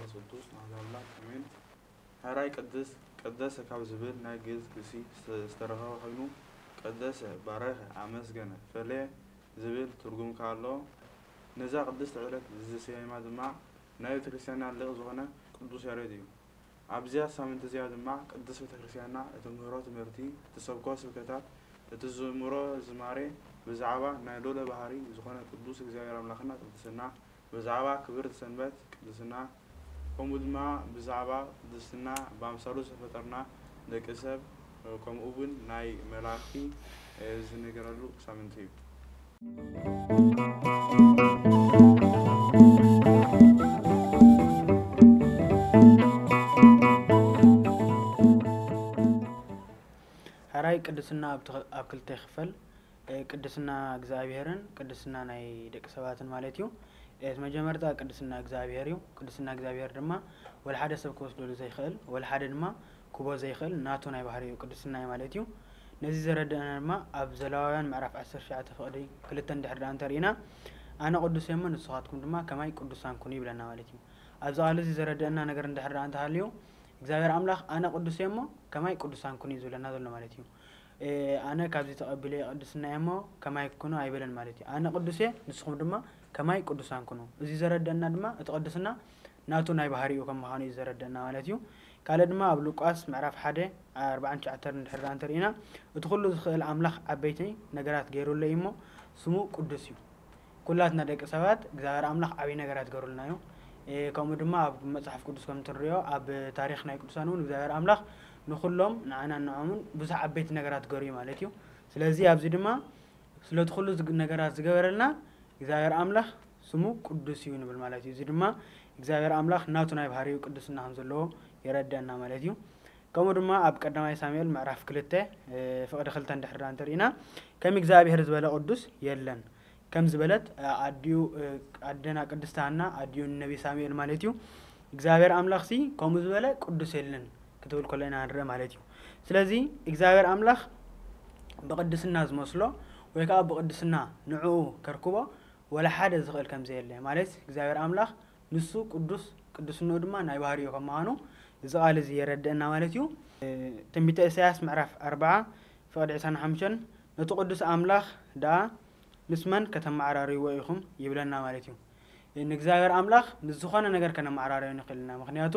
መንፈስ ቅዱስ ኣሐዱ ኣምላኽ ኣሜን። ሕራይ ቅድስ፣ ቀደሰ ካብ ዝብል ናይ ግእዝ ግሲ ዝተ-፣ ዝተረኸበ ኮይኑ፣ ቀደሰ፣ ባረኸ፣ ኣመስገነ፣ ፈለየ ዝብል ትርጉም ከኣ ኣለዎ። ነዛ ቅድስቲ ዕለት ዝሰየማ ድማ ናይ ቤተክርስትያንና ሊቕ ዝኾነ ቅዱስ ያሬድ እዩ። ኣብዚኣ ሳምንቲ እዚኣ ድማ ቅድስት ቤተክርስትያንና እትምህሮ ትምህርቲ፣ እትሰብኮ ስብከታት፣ እትዝምሮ ዝማሬ ብዛዕባ ናይ ልዑለ ባህሪ ዝኾነ ቅዱስ እግዚኣብሔር ኣምላኽና ቅድስና፣ ብዛዕባ ክብርቲ ሰንበት ቅድስና፣ ከምኡ ድማ ብዛዕባ ቅድስና ብኣምሳሉ ዝተፈጠርና ደቂ ሰብ፣ ከምኡ እውን ናይ መላእኽቲ ዝነገረሉ ሳምንቲ እዩ። ሕራይ ቅድስና ኣብ ትኸ-፣ ኣብ ክልተ ይኽፈል። እ፣ ቅድስና እግዚኣብሔርን ቅድስና ናይ ደቂ ሰባትን ማለት እዩ። እቲ መጀመርታ ቅድስና እግዚኣብሔር እዩ። ቅድስና እግዚኣብሔር ድማ ወላ ሓደ ሰብ ክወስደሉ ዘይኽእል፣ ወላ ሓደ ድማ ክቦ ዘይኽእል ናቱ ናይ ባህሪ እዩ፣ ቅድስና እዩ ማለት እዩ። ነዚ ዘረድአና ድማ ኣብ ዘሌዋውያን ምዕራፍ ዓሰርተ ትሽዓተ ፍቕዲ ክልተ እንድሕር ደኣ እንተርኢና፣ "ኣነ ቅዱስ እየ እሞ ንስኻትኩም ድማ ከማይ ቅዱሳን ኩኑ" ይብለና ማለት እዩ። ኣብዚ ቃል እዚ ዘረድአና ነገር እንድሕር ደኣ እንተሃልዩ፣ እግዚኣብሔር ኣምላኽ "ኣነ ቅዱስ እየ እሞ ከማይ ቅዱሳን ኩኑ" እዩ ዝብለና ዘሎ ማለት እዩ። እ፣ ኣነ ካብዚ ተቐቢለ ቅድስና እየ እሞ ከማይ ኩኑ ኣይበለን ማለት እዩ። "ኣነ ቅዱስ እየ፣ ንስኹም ድማ ከማይ ቅዱሳን ኩኑ።" እዚ ዘረድአና ድማ እቲ ቅድስና ናቱ ናይ ባህሪኡ ከም ምዃኑ እዩ ዘረድአና ማለት እዩ። ካልእ ድማ ኣብ ሉቃስ ምዕራፍ ሓደ ኣርባዓን ትሽዓተን እንድሕር ደኣ እንተርኢና፣ "እቲ ኩሉ ዝኽእል ኣምላኽ ዓበይቲ ነገራት ገይሩለይ እሞ ስሙ ቅዱስ እዩ።" ኩላትና ደቂ ሰባት እግዚኣብሔር ኣምላኽ ዓብዪ ነገራት ገይሩልና እዩ። እ፣ ከምኡ ድማ ኣብ መጽሓፍ ቅዱስ ከም ትንሪኦ፣ ኣብ ታሪኽ ናይ ቅዱሳን እውን እግዚኣብሔር ኣምላኽ ንኹሎም ንዓናን ንዖምን ብዙሕ ዓበይቲ ነገራት ገይሩ እዩ ማለት እዩ። ስለዚ ኣብዚ ድማ ስለቲ ኩሉ ዝግ-፣ ነገራት ዝገበረልና እግዚኣብሔር ኣምላኽ ስሙ ቅዱስ እዩ ንብል ማለት እዩ። እዚ ድማ እግዚኣብሔር ኣምላኽ ናቱ ናይ ባህሪኡ ቅድስና ከም ዘለዎ የረድአና ማለት እዩ። ከምኡ ድማ ኣብ ቀዳማይ ሳሙኤል ምዕራፍ ክልተ፣ እ፣ ፍቕዲ ክልተ እንድሕር ደኣ እንተርኢና፣ "ከም እግዚኣብሔር ዝበለ ቅዱስ የለን" ከም ዝበለት፣ እ፣ ኣዲኡ፣ እ፣ ኣደና ቅድስት ሃና ኣዲኡ ንነቢ ሳሙኤል ማለት እዩ። እግዚኣብሔር ኣምላኽሲ ከምኡ ዝበለ ቅዱስ የለን ክትብል ከሎ ኢና ንርኢ ማለት እዩ። ስለዚ እግዚኣብሔር ኣምላኽ ብቅድስና ዝመስሎ ወይ ከዓ ብቅድስና ንዕኡ ከርክቦ ወላ ሓደ ዝኽእል ከም ዘየለ ማለት እግዚኣብሔር ኣምላኽ ንሱ ቅዱስ፣ ቅዱስንኡ ድማ ናይ ባህሪኡ ከም ምዃኑ እዚ ቃል እዚ የረድአና ማለት እዩ። ትንቢተ ኢሳያስ ምዕራፍ ኣርብዓ ፍቕዲ ዕስራን ሓሙሽተን፣ "ነቲ ቅዱስ ኣምላኽ ደኣ ምስ መን ከተመዓራርይዎ ኢኹም?" ይብለና ማለት እዩ። ንእግዚኣብሔር ኣምላኽ ምስ ዝኾነ ነገር ከነመዓራርዮ ንኽእል ኢና። ምኽንያቱ፣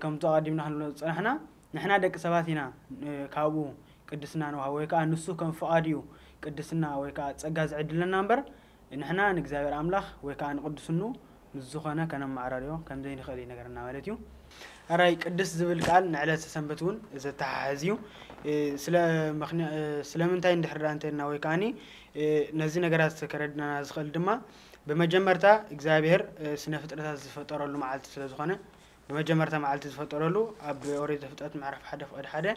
ከምቲ ኣቐዲምና ክንብሎ ዝጸናሕና፣ ንሕና ደቂ ሰባት ኢና፣ ካብኡ ቅድስና ንወሃቦ ወይ ከኣ ንሱ ከም ፍቓዱ እዩ ቅድስና ወይ ከኣ ጸጋ ዝዕድለና እምበር፣ ንሕና ንእግዚኣብሔር ኣምላኽ ወይ ከኣ ንቅድስንኡ ምስ ዝኾነ ከነመዓራርዮ ከም ዘይንኽእል ይነግረና ማለት እዩ። ሕራይ ቅድስ ዝብል ቃል ንዕለተ ሰንበት እውን ዘተሓሕዝ እዩ። እ፣ ስለ ምኽንያ-፣ እ፣ ስለምንታይ እንድሕር ደኣ እንተልና ወይ ከኣኒ፣ እ፣ ነዚ ነገራት ከረድናና ዝኽእል ድማ ብመጀመርታ እግዚኣብሔር፣ እ፣ ስነ ፍጥረታት ዝፈጠረሉ መዓልቲ ስለ ዝኾነ፣ ብመጀመርታ መዓልቲ ዝፈጠረሉ ኣብ ኦሪት ዘፍጥረት ምዕራፍ ሓደ ፍቕዲ ሓደ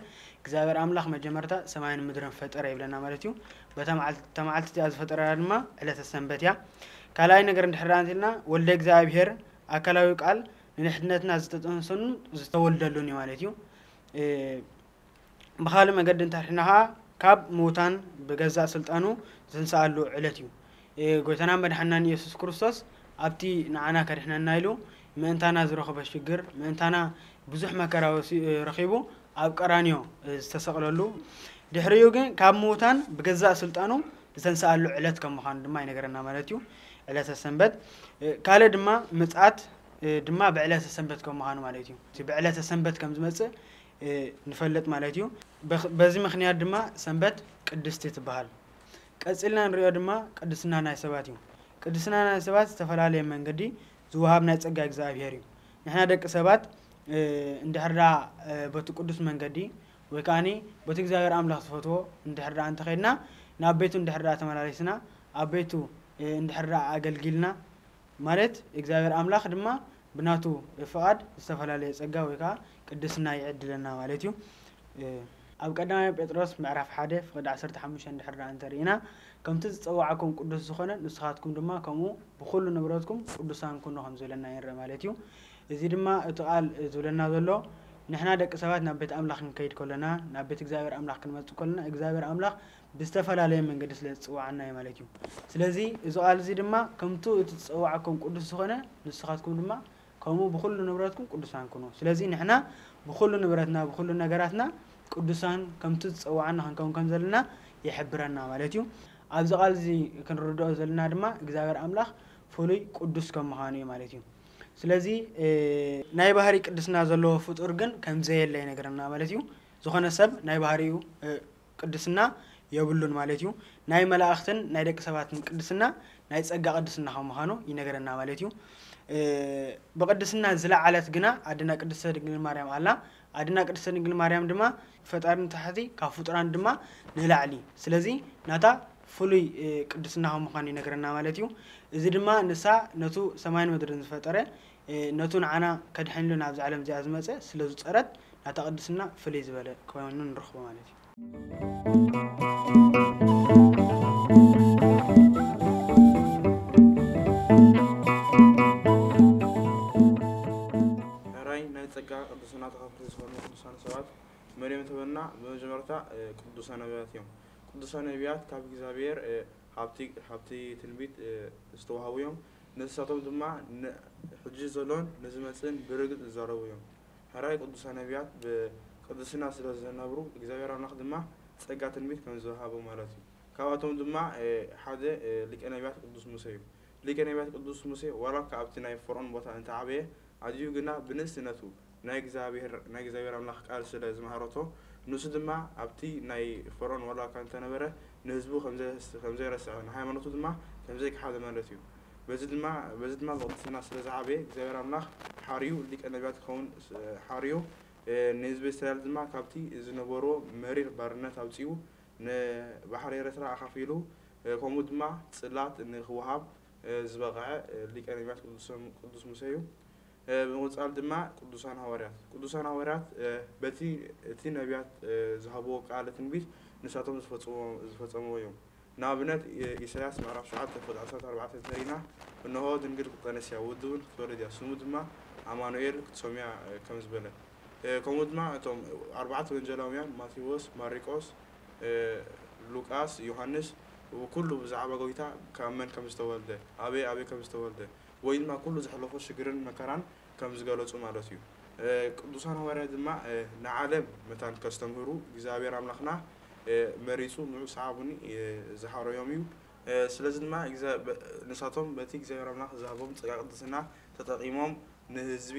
እግዚኣብሔር ኣምላኽ መጀመርታ ሰማይን ምድርን ፈጠረ ይብለና ማለት እዩ። በታ መዓልቲ፣ እታ መዓልቲ እቲኣ ዝፈጠረላ ድማ ዕለተ ሰንበት እያ። ካልኣይ ነገር እንድሕር ደኣ እንተልና ወልደ እግዚኣብሔር ኣካላዊ ቃል ንንሕድነትና ዝተጠንሰኑ ዝተወልደሉን እዩ ማለት እዩ። እ፣ ብኻልእ መገዲ እንተርሒና ኸዓ ካብ ምዉታን ብገዛእ ስልጣኑ ዝተንስኣሉ ዕለት እዩ። እ፣ ጎይታና መድሓናን ኢየሱስ ክርስቶስ ኣብቲ ንዓና ከድሕነና ኢሉ ምእንታና ዝረኸቦ ሽግር፣ ምእንታና ብዙሕ መከራ ወሲ-፣ እ፣ ረኺቡ ኣብ ቀራንዮ፣ እ፣ ዝተሰቕለሉ፣ ድሕሪኡ ግን ካብ ምዉታን ብገዛእ ስልጣኑ ዝተንስኣሉ ዕለት ከም ምዃኑ ድማ ይነግረና ማለት እዩ፣ ዕለተ ሰንበት። እ፣ ካልእ ድማ ምጽኣት፣ እ፣ ድማ ብዕለተ ሰንበት ከም ምዃኑ ማለት እዩ። እቲ ብዕለተ ሰንበት ከም ዝመጽእ፣ እ፣ ንፈልጥ ማለት እዩ። በኽ-፣ በዚ ምኽንያት ድማ ሰንበት ቅድስቲ ትበሃል። ቀጺልና ንሪኦ ድማ ቅድስና ናይ ሰባት እዩ። ቅድስና ናይ ሰባት ዝተፈላለየ መንገዲ ዝወሃብ ናይ ጸጋ እግዚኣብሔር እዩ። ንሕና ደቂ ሰባት፣ እ፣ እንድሕር ደኣ፣ እ፣ በቲ ቅዱስ መንገዲ ወይ ከኣኒ በቲ እግዚኣብሔር ኣምላኽ ዝፈትዎ እንድሕር ደኣ እንተኸድና፣ ናብ ቤቱ እንድሕር ደኣ ተመላሊስና፣ ኣብ ቤቱ፣ እ፣ እንድሕር ደኣ ኣገልጊልና፣ ማለት እግዚኣብሔር ኣምላኽ ድማ ብናቱ ፍቓድ ዝተፈላለየ ጸጋ ወይ ከኣ ቅድስና ይዕድለና ማለት እዩ። እ፣ ኣብ ቀዳማይ ጴጥሮስ ምዕራፍ ሓደ ፍቕዲ ዓሰርተ ሓሙሽተ እንድሕር ደኣ እንተርኢና፣ "ከምቲ ዝጸዋዓኩም ቅዱስ ዝኾነ ንስኻትኩም ድማ ከምኡ ብኹሉ ንብረትኩም ቅዱሳን ኩኑ" ከም ዝብለና ይንርኢ ማለት እዩ። እዚ ድማ እቲ ቃል ዝብለና ዘሎ ንሕና ደቂ ሰባት ናብ ቤት ኣምላኽ ክንከይድ ከለና፣ ናብ ቤት እግዚኣብሔር ኣምላኽ ክንመጽእ ከለና፣ እግዚኣብሔር ኣምላኽ ብዝተፈላለየ መንገዲ ስለ ዝጽውዓና እዩ ማለት እዩ። ስለዚ እዚ ቃል እዚ ድማ ከምቱ እቲ ዝጸዋዓኩም ቅዱስ ዝኾነ ንስኻትኩም ድማ ከምኡ ብኹሉ ንብረትኩም ቅዱሳን ኩኑ። ስለዚ ንሕና ብኹሉ ንብረትና፣ ብኹሉ ነገራትና ቅዱሳን ከምቲ ዝጸውዓና ክንከውን ከም ዘለና ይሕብረና ማለት እዩ። ኣብዚ ቃል እዚ ክንርድኦ ዘለና ድማ እግዚኣብሔር ኣምላኽ ፍሉይ ቅዱስ ከም ምዃኑ እዩ ማለት እዩ። ስለዚ፣ እ፣ ናይ ባህሪ ቅድስና ዘለዎ ፍጡር ግን ከም ዘየለ ይነግረና ማለት እዩ። ዝኾነ ሰብ ናይ ባህሪኡ፣ እ፣ ቅድስና የብሉን ማለት እዩ። ናይ መላእኽትን ናይ ደቂ ሰባትን ቅድስና ናይ ጸጋ ቅድስና ከም ምዃኑ ይነግረና ማለት እዩ። እ፣ ብቅድስና ዝለዓለት ግና ኣድና ቅድስተ ድንግል ማርያም ኣላ። ኣድና ቅድስተ ድንግል ማርያም ድማ ፈጣሪ ንታሕቲ፣ ካብ ፍጡራን ድማ ንላዕሊ። ስለዚ ናታ ፍሉይ፣ እ፣ ቅድስና ከም ምዃኑ ይነግረና ማለት እዩ። እዚ ድማ ንሳ ነቱ ሰማይን ምድርን ዝፈጠረ፣ እ፣ ነቱ ንዓና ከድሕንሉ ናብዚ ዓለም እዚኣ ዝመጸ ስለ ዝጸረት ናታ ቅድስና ፍልይ ዝበለ ኮይኑ ንረኽቦ ማለት እዩ። ሕራይ ናይ ጸጋ ቅድስና ተኻፈልቲ ዝኾኑ ቅዱሳን ሰባት መን እዮም ተበልና፣ ብመጀመርታ፣ እ፣ ቅዱሳን ነቢያት እዮም። ቅዱሳን ነቢያት ካብ እግዚኣብሔር፣ እ፣ ሃብቲ፣ ሃብቲ ትንቢት፣ እ፣ ዝተዋህቡ እዮም። ንሳቶም ድማ ን-፣ ሕጂ ዘሎን ንዝመጽእን ብርግጽ ዝዛረቡ እዮም። ሕራይ ቅዱሳን ነቢያት ብቅድስና ስለ ዝነብሩ፣ እግዚኣብሔር ኣምላኽ ድማ ጸጋ ትንቢት ከም ዝወሃቦም ማለት እዩ። ካብኣቶም ድማ፣ እ፣ ሓደ፣ እ፣ ሊቀ ነቢያት ቅዱስ ሙሴ እዩ። ሊቀ ነቢያት ቅዱስ ሙሴ ዋላ እኳ ኣብቲ ናይ ፈርዖን ቦታ እንተዓበየ፣ ኣዝዩ ግና ብንእስነቱ ናይ እግዚኣብሔር፣ ናይ እግዚኣብሔር ኣምላኽ ቃል ስለ ዝመሃረቶ፣ ንሱ ድማ ኣብቲ ናይ ፈርዖን ዋላ እኳ እንተነበረ፣ ንህዝቡ ከም ዘ-፣ ከም ዘይረስዐ፣ ንሃይማኖቱ ድማ ከም ዘይከሓደ ማለት እዩ። በዚ ድማ፣ በዚ ድማ ብቅድስና ስለ ዝዓበየ፣ እግዚኣብሔር ኣምላኽ ሓርዩ ሊቀ ነቢያት ክኸውን ስ-፣ ሓርዩ፣ እ፣ ንህዝቢ እስራኤል ድማ ካብቲ ዝነበርዎ መሪር ባርነት ኣውጺኡ፣ ንባሕሪ ኤርትራ ኣኻፊሉ፣ እ፣ ከምኡ ድማ ጽላት ንክወሃብ፣ እ፣ ዝበቕዐ፣ እ፣ ሊቀ ነቢያት ቅዱስ፣ ቅዱስ ሙሴ እዩ። እ፣ ብምቕጻል ድማ ቅዱሳን ሃዋርያት። ቅዱሳን ሃዋርያት፣ እ፣ በቲ፣ እቲ ነቢያት፣ እ፣ ዝሃብዎ ቃለ ትንቢት ንሳቶም ዝፈጽሞ-፣ ዝፈጸምዎ እዮም። ንኣብነት፣ እ፣ ኢሳያስ ምዕራፍ ሸውዓተ ቁጽሪ ዓሰርተ ኣርባዕተ እንተሪና፣ "እንሆ ድንግል ክትጸንስ እያ፣ ወዲ እውን ክትወልድ እያ፣ ስሙ ድማ ኣማኑኤል ክትሰምዮ እያ" ከም ዝበለ። እ፣ ከምኡ ድማ እቶም ኣርባዕተ ወንጌላውያን ማቴዎስ፣ ማርቆስ፣ እ፣ ሉቃስ፣ ዮሃንስ፣ ኩሉ ብዛዕባ ጎይታ ካብ መን ከም ዝተወልደ፣ ኣበይ ኣበይ ከም ዝተወልደ፣ ወይ ድማ ኩሉ ዘሕለፎ ሽግርን መከራን ከም ዝገለጹ ማለት እዩ። እ፣ ቅዱሳን ሃዋርያት ድማ፣ እ፣ ንዓለም መታን ከስተምህሩ እግዚኣብሔር ኣምላኽና፣ እ፣ መሪጹ ንዑ ሰዓቡኒ፣ እ፣ ዝሓረዮም እዩ። እ፣ ስለዚ ድማ እግዛ-፣ በ-፣ ንሳቶም በቲ እግዚኣብሔር ኣምላኽ ዝሃቦም ጸጋ ቅድስና ተጠቒሞም ንህዝቢ፣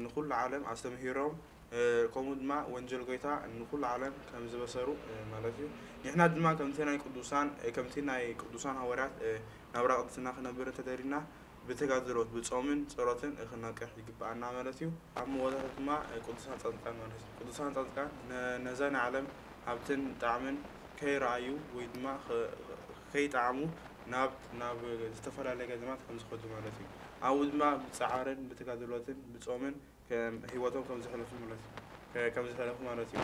ንኹሉ ዓለም ኣስተምሂሮም፣ እ፣ ከምኡ ድማ ወንጀል ጎይታ ንኹሉ ዓለም ከም ዝበሰሩ፣ እ፣ ማለት እዩ። ንሕና ድማ ከምቲ ናይ ቅዱሳን፣ እ፣ ከምቲ ናይ ቅዱሳን ሃዋርያት፣ እ፣ ናብራ ቅድስና ክነብር እንተደሊና ብተጋድሎት፣ ብጾምን ጸሎትን ክነቅሕ ይግብኣና ማለት እዩ። ኣብ መወዳእታ ድማ፣ እ፣ ቅዱሳን ጻድቃን ማለት እዩ። ቅዱሳን ጻድቃን ነ-፣ ነዛ ናይ ዓለም ሃብትን ጣዕምን ከይረኣዩ ወይ ድማ ኸ-፣ ከይጠዓሙ ናብ፣ ናብ ዝተፈላለየ ገዳማት ከም ዝኸዱ ማለት እዩ። ኣብኡ ድማ ብጻዕርን ብተጋድሎትን ብጾምን ከም ህይወቶም ከም ዘሕለፉ ማለት እዩ። ከ-፣ ከም ዘሕለፉ ማለት እዩ።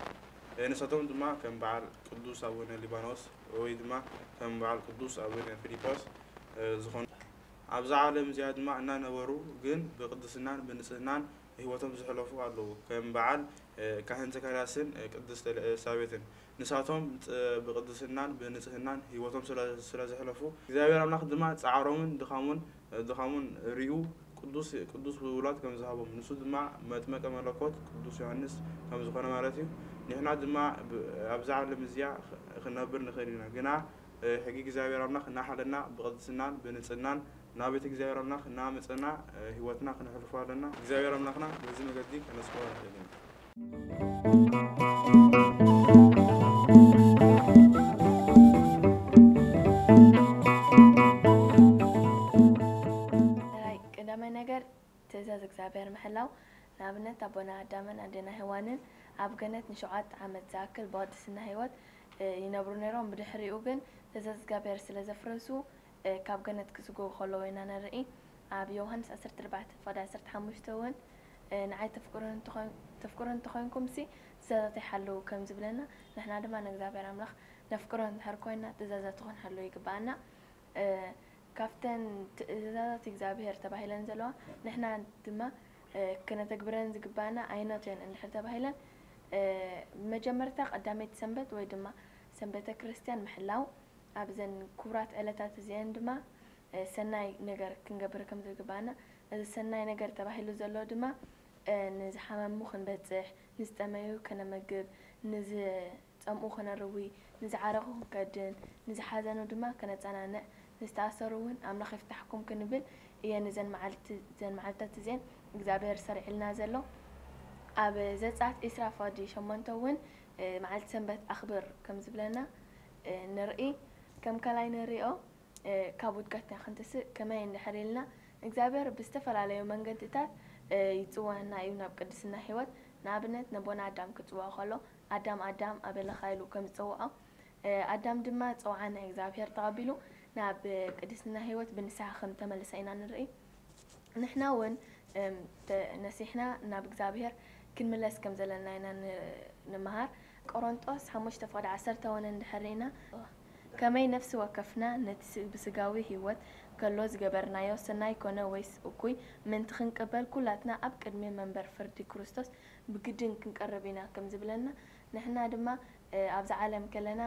እ፣ ንሳቶም ድማ ከም በዓል ቅዱስ ኣቡነ ሊባኖስ ወይ ድማ ከም በዓል ቅዱስ ኣቡነ ፊሊጶስ፣ እ፣ ዝኾኑ ኣብዛ ዓለም እዚኣ ድማ እናነበሩ ግን ብቅድስናን ብንጽህናን ህይወቶም ዘሕለፉ ኣለዉ። ከም በዓል፣ እ፣ ካህን ዘካርያስን፣ እ፣ ቅድስት ኤልሳቤጥን። ንሳቶም ጥ-፣ ብቅድስናን ብንጽህናን ህይወቶም ስለ፣ ስለ ዘሕለፉ፣ እግዚኣብሔር ኣምላኽ ድማ ጻዕሮምን ድኻሙን፣ እ፣ ድኻሙን ሪኡ ቅዱስ፣ ቅዱስ ውላድ ከም ዝሃቦም፣ ንሱ ድማ መጥመቀ መለኮት ቅዱስ ዮሃንስ ከም ዝኾነ ማለት እዩ። ንሕና ድማ ብ-፣ ኣብዛ ዓለም እዚኣ ኽ-፣ ክንነብር ንኽእል ኢና። ግና፣ እ፣ ሕጊ እግዚኣብሔር ኣምላኽ እናሓለና ብቅድስናን ብንጽህናን ናብ ቤት እግዚኣብሔር ኣምላኽ እናመጸና፣ እ፣ ህይወትና ክነሕልፎ ኣለና። እግዚኣብሔር ኣምላኽና በዚ መገዲ ከነስምዖ ንኽእል ኢና። ራይ፣ ቀዳማይ ነገር ትእዛዝ እግዚኣብሔር ምሕላው። ንኣብነት ኣቦና ኣዳምን ኣዴና ሄዋንን ኣብ ገነት ንሸውዓተ ዓመት ዝኣክል ብቅድስና ህይወት፣ እ፣ ይነብሩ ነይሮም። ብድሕሪኡ ግን ትእዛዝ እግዚኣብሔር ስለ ዘፍረሱ፣ እ፣ ካብ ገነት ክስጎጉ ከለዉ ኢና ንርኢ። ኣብ ዮሃንስ ዓሰርተ ኣርባዕተ ፍቕዲ ዓሰርተ ሓሙሽተ እውን፣ እ፣ ንዓይ ተፍቅሩኒ እንተኾይን-፣ ተፍቅሩኒ እንተኾይንኩምሲ ትእዛዛተይ ሓልዉ ከም ዝብለና፣ ንሕና ድማ ንእግዚኣብሔር ኣምላኽ ነፍቅሮ እንድሕር ኮይንና ትእዛዛቱ ክንሓልዎ ይግብኣና። እ፣ ካብተን ትእዛዛት እግዚኣብሔር ተባሂለን ዘለዋ ንሕና ድማ፣ እ፣ ክነተግብረን ዝግብኣና ኣየኖት እየን እንድሕር ተባሂለን፣ እ፣ መጀመርታ ቀዳመይቲ ሰንበት ወይ ድማ ሰንበተ ክርስትያን ምሕላው፣ ኣብዘን ክቡራት ዕለታት እዚአን ድማ ሰናይ ነገር ክንገብር ከም ዝግባና፣ እዚ ሰናይ ነገር ተባሂሉ ዘሎ ድማ ንዝሓመሙ ክንበጽሕ፣ ንዝጠመዩ ከነመግብ፣ ንዝጸምኡ ከነርዊ፣ ንዝዓረኹ ክንከድን፣ ንዝሓዘኑ ድማ ከነጸናንዕ፣ ንዝተኣሰሩ እውን ኣምላኽ ይፍታሕኩም ክንብል እየ። ንዘን መዓልቲ ዘን መዓልታት እዚአን እግዚኣብሔር ሰሪዕልና ዘሎ። ኣብ ዘጸኣት ዒስራ ፈቕዲ ሸሞንተ እውን መዓልቲ ሰንበት ኣኽብር ከም ዝብለና ንርኢ። ከም ካልኣይ ንሪኦ ካብ ውድቀትና ክንትስእ ከመይ እንድሕር ኢልና እግዚኣብሔር ብዝተፈላለዩ መንገድታት ይፅወዐና እዩ ናብ ቅድስና ህይወት። ንኣብነት ነቦና ኣዳም ክፅውዖ ከሎ ኣዳም ኣዳም ኣበለኻ ኢሉ ከም ዝፀውዖ ኣዳም ድማ ፀውዓ ናይ እግዚኣብሔር ተቐቢሉ ናብ ቅድስና ህይወት ብንስሓ ከም ተመልሰ ኢና ንርኢ። ንሕና እውን ነሲሕና ናብ እግዚኣብሔር ክንምለስ ከም ዘለና ኢና ንምሃር። ቆሮንጦስ ሓሙሽተ ፍቕዲ ዓሰርተ እውን እንድሕር ኢና ከመይ ነፍሲ ወከፍና ነቲ ብስጋዊ ህይወት ከሎ ዝገበርናዮ ሰናይ ኮነ ወይስ እኩይ ምእንቲ ክንቅበል ኩላትና ኣብ ቅድሚ መንበር ፍርዲ ክርስቶስ ብግድን ክንቀርብ ኢና ከም ዝብለና ንሕና ድማ ኣብዛ ዓለም ከለና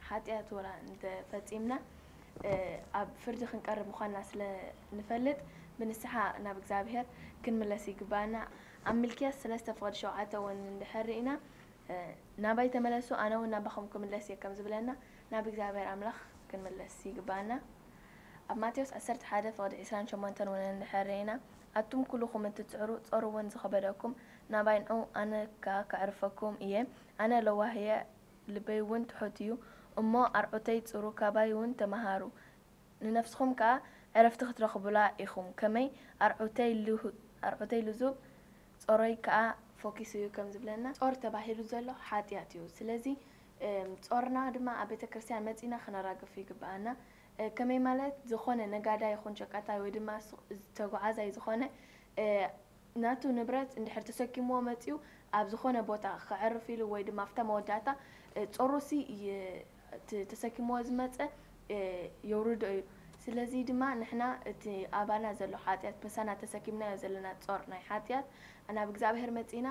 ሓጢኣት ወላ እንተፈፂምና ኣብ ፍርዲ ክንቀርብ ምዃንና ስለ ንፈልጥ ብንስሓ ናብ እግዚኣብሔር ክንምለስ ይግባና። ኣብ ምልክያስ ሰለስተ ፍቕዲ ሸውዓተ እውን እንድሕር ኢና ናባይ ተመለሱ ኣነ እውን ናባኹም ክምለስ እየ ከም ዝብለና ናብ እግዚኣብሔር ኣምላኽ ክንምለስ ይግባና። ኣብ ማቴዎስ ዓሰርተ ሓደ ፍቕዲ ዕስራን ሸሞንተን እውን እንድሕር ኢና ኣቱም ኩልኹም እትጽዕሩ ጾር እውን ዝኸበደኩም ናባይ ንዑ ኣነ ከኣ ከዕርፈኩም እየ። ኣነ ለዋህ እየ ልበይ እውን ትሑት እዩ እሞ ኣርዑተይ ጽሩ ካባይ እውን ተመሃሩ ንነፍስኹም ከኣ ዕረፍቲ ክትረኽቡላ ኢኹም። ከመይ ኣርዑተይ ልዙብ ጾረይ ከኣ ፎኪሱ እዩ ከም ዝብለና ጾር ተባሂሉ ዘሎ ሓጢኣት እዩ። ስለዚ ጾርና ድማ ኣብ ቤተ ክርስቲያን መጺና ክነራግፍ ይግብኣና። ከመይ ማለት ዝኾነ ነጋዳይ ይኹን ሸቃጣይ ወይ ድማ ተጓዓዛይ ዝኾነ ናቱ ንብረት እንድሕር ተሰኪምዎ መጺኡ ኣብ ዝኾነ ቦታ ከዕርፍ ኢሉ ወይ ድማ ኣብታ መወዳእታ ጾሩሲ ተሰኪምዎ ዝመጸ የውርዶ እዩ። ስለዚ ድማ ንሕና እቲ ኣባና ዘሎ ሓጢኣት ምሳና ተሰኪምናዮ ዘለና ጾር ናይ ሓጢኣት ናብ እግዚኣብሔር መጺእና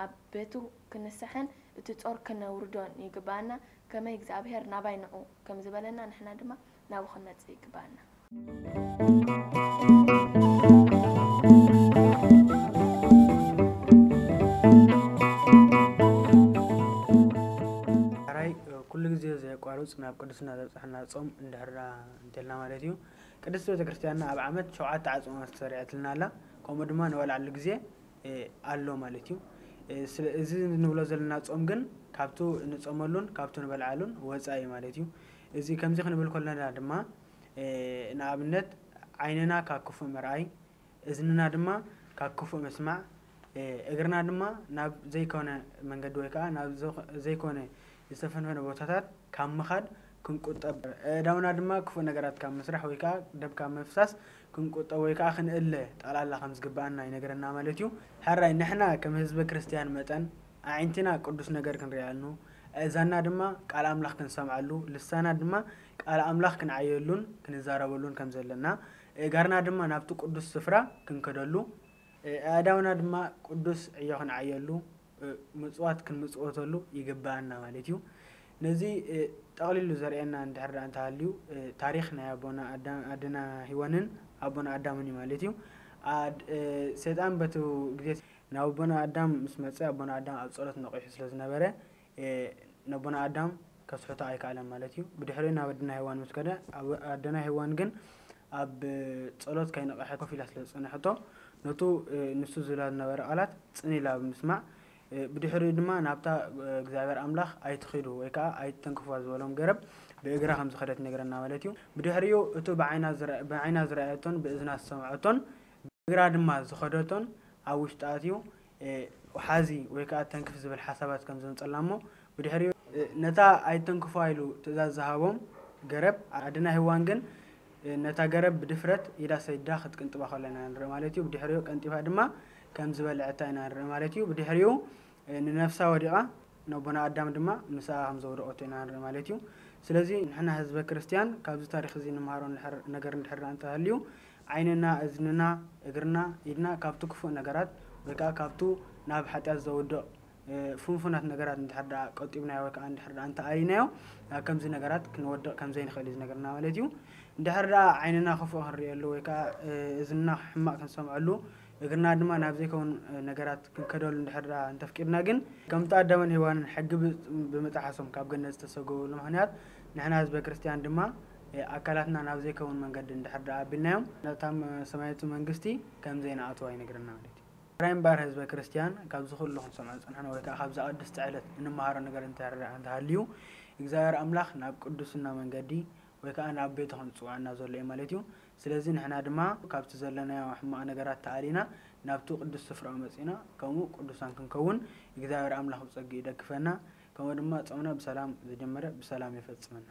ኣብ ቤቱ ክንስሕን እቲ ጾር ከነውርዶን ይግባኣና። ከመይ እግዚኣብሔር ናባይ ንዑ ከም ዝበለና ንሕና ድማ ናብኡ ክንመጽእ ይግባኣና። ራይ ኩሉ ግዜ ዘየቋርፅ ናብ ቅድስና ዘብፅሐና ፆም እንድሕር እንተልና ማለት እዩ። ቅድስቲ ቤተክርስትያንና ኣብ ዓመት ሸውዓተ ዓፅሞት ተሰሪዐትልና ኣላ። ከምኡ ድማ ንበልዓሉ ግዜ ኣሎ ማለት እዩ። እዚ ንብሎ ዘለና ጾም ግን ካብቱ ንጸመሉን ካብቱ ንበልዓሉን ወጻኢ ማለት እዩ። እዚ ከምዚ ክንብል ከለና ድማ ንኣብነት ዓይንና ካብ ክፉእ ምርኣይ፣ እዝንና ድማ ካብ ክፉእ ምስማዕ፣ እግርና ድማ ናብ ዘይኮነ መንገዲ ወይ ከዓ ናብ ዘይኮነ ዝተፈንፈነ ቦታታት ካብ ምኻድ ክንቁጠብ፣ ኣእዳውና ድማ ክፉእ ነገራት ካብ ምስራሕ ወይ ከዓ ደም ካብ ምፍሳስ ክንቁጠብ ወይ ከዓ ክንእለ ጠቕላላ ከም ዝግብኣና ይነግረና ማለት እዩ። ሕራይ ንሕና ከም ህዝበ ክርስትያን መጠን ኣዒንትና ቅዱስ ነገር ክንሪኣሉ፣ ኣእዛንና ድማ ቃል ኣምላኽ ክንሰምዓሉ፣ ልሳና ድማ ቃል ኣምላኽ ክንዓየሉን ክንዛረበሉን ከም ዘለና፣ ኣእጋርና ድማ ናብቲ ቅዱስ ስፍራ ክንከደሉ፣ ኣእዳውና ድማ ቅዱስ ዕዮ ክንዓየሉ፣ ምጽዋት ክንምጽወተሉ ይግብኣና ማለት እዩ። ነዚ ጠቕሊሉ ዘርእየና እንድሕር ደኣ እንተሃልዩ ታሪኽ ናይ ኣቦና ኣዳም ኣደና ሂዋንን ኣቦና ኣዳምን እዩ ማለት እዩ። ሰይጣን በቲ ግዜ ናብ ኣቦና ኣዳም ምስ መጸ ኣቦና ኣዳም ኣብ ጸሎት ነቒሑ ስለ ዝነበረ ነቦና ኣዳም ከስሕቶ ኣይከኣለን ማለት እዩ። ብድሕሪኡ ናብ ኣደና ሄዋን ምስ ከደ ኣደና ሄዋን ግን ኣብ ጸሎት ከይነቐሐት ኮፍ ኢላ ስለ ዝጸንሐቶ ነቱ ንሱ ዝብላ ዝነበረ ቃላት ጽን ኢላ ብምስማዕ ብድሕሪኡ ድማ ናብታ እግዚኣብሔር ኣምላኽ ኣይትኺዱ ወይ ከዓ ኣይትተንክፍዋ ዝበሎም ገረብ ብእግራ ከም ዝኸደት ይነግረና ማለት እዩ። ብድሕሪኡ እቱ ብዓይና ዝረኣየቶን ብእዝና ዝሰምዐቶን ብእግራ ድማ ዝኸደቶን ኣብ ውሽጢ ኣትዩ ውሓዚ ወይ ከዓ ተንክፍ ዝብል ሓሳባት ከም ዘምፀላ እሞ ብድሕሪኡ ነታ ኣይተንክፍዋ ኢሉ ትእዛዝ ዝሃቦም ገረብ ኣደና ሄዋን ግን ነታ ገረብ ብድፍረት ኢዳ ሰዲዳ ክትቅንጥባ ከለና ንርኢ ማለት እዩ። ብድሕሪኡ ቀንጢፋ ድማ ከም ዝበልዐታ ኢና ንርኢ ማለት እዩ። ብድሕሪኡ ንነፍሳ ወዲቓ ነቦና ኣዳም ድማ ምስኣ ከም ዘውደቐቶ ኢና ንርኢ ማለት እዩ። ስለዚ ንሕና ህዝበ ክርስትያን ካብዚ ታሪኽ እዚ ንምሃሮ ነገር እንድሕር እንተሃልዩ ዓይንና፣ እዝንና፣ እግርና፣ ኢድና ካብቲ ክፉእ ነገራት ወይ ከዓ ካብቱ ናብ ሓጢኣት ዘውድቕ ፍንፉናት ነገራት እንድሕር ደኣ ቆጢብናዮ ወይ ከዓ እንድሕር ደኣ እንተኣሊናዮ ናብ ከምዚ ነገራት ክንወድቕ ከም ዘይንኽእል እዩ ዝነግረና ማለት እዩ። እንድሕር ደኣ ዓይንና ክፉእ ክንርእየሉ ወይ ከዓ እዝንና ሕማቕ ክንሰምዐሉ፣ እግርና ድማ ናብ ዘይከውን ነገራት ክንከደሉ እንድሕር ደኣ እንተፍቂድና ግን፣ ከምቲ ኣዳምን ሄዋንን ሕጊ ብምጥሓሶም ካብ ገነት ዝተሰጎሉ ምኽንያት፣ ንሕና ህዝበ ክርስትያን ድማ ኣካላትና ናብ ዘይከውን መንገዲ እንድሕር ደኣ ኣቢልናዮም፣ ነታ ሰማያዊት መንግስቲ ከም ዘይንኣትዋ ይነግረና ማለት እዩ። ራይ እምበኣር ህዝበ ክርስትያን ካብዚ ኩሉ ክንሰምዖ ዝጸናሕና ወይ ከዓ ካብዛ ቅድስቲ ዕለት እንመሃሮ ነገር እንተሃልዩ፣ እግዚኣብሔር ኣምላኽ ናብ ቅዱስና መንገዲ ወይ ከዓ ናብ ቤቱ ክንጽውዓና ዘሎ እዩ ማለት እዩ። ስለዚ ንሕና ድማ ካብቲ ዘለናዮ ሕማቕ ነገራት ተኣሊና ናብቲ ቅዱስ ስፍራኡ መጺና ከምኡ ቅዱሳን ክንከውን እግዚኣብሔር ኣምላኽ ብጸግኡ ይደግፈና። ከምኡ ድማ ጾምና ብሰላም ዝጀመረ ብሰላም የፈጽመና።